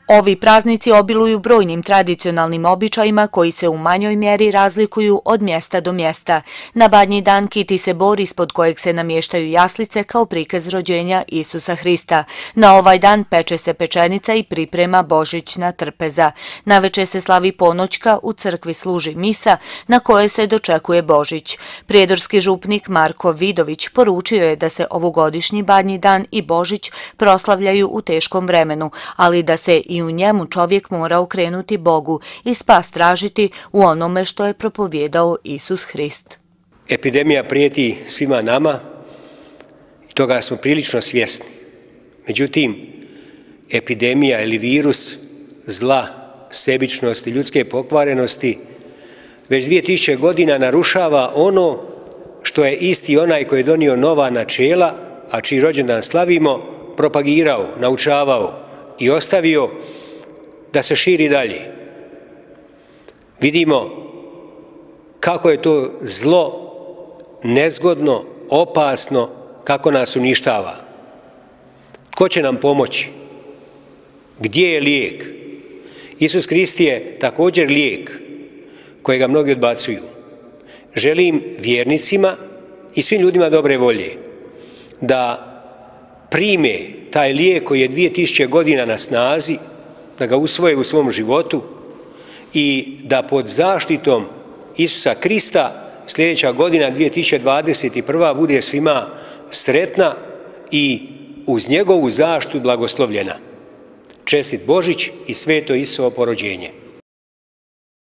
Ovi praznici obiluju brojnim tradicionalnim običajima koji se u manjoj mjeri razlikuju od mjesta do mjesta. Na Badnji dan kiti se bor ispod kojeg se namještaju jaslice kao prikaz rođenja Isusa Hrista. Na ovaj dan peče se pečenica i priprema božićna trpeza. Naveče se slavi ponoćka, u crkvi služi misa na kojoj se dočekuje Božić. Prijedorski župnik Marko Vidović poručio je da se ovogodišnji Badnji dan i Božić proslavljaju u teškom vremenu, ali da se i u njemu čovjek mora okrenuti Bogu i spas tražiti u onome što je propovijedao Isus Hrist. Epidemija prijeti svima nama i toga smo prilično svjesni. Međutim, epidemija ili virus zla, sebičnosti, ljudske pokvarenosti već 2000 godina narušava ono što je isti onaj koji je donio nova načela, a čiji rođendan slavimo, propagirao, naučavao i ostavio da se širi dalje. Vidimo kako je to zlo nezgodno, opasno, kako nas uništava. Ko će nam pomoći? Gdje je lijek? Isus Hrist je također lijek kojega mnogi odbacuju. Želim vjernicima i svim ljudima dobre volje da prime taj lijek koji je 2000 godina na snazi, da ga usvoje u svom životu i da pod zaštitom Isusa Hrista sljedeća godina 2021. bude svima sretna i uz njegovu zaštitu blagoslovljena. Čestit Božić i sveto Isusovo porođenje.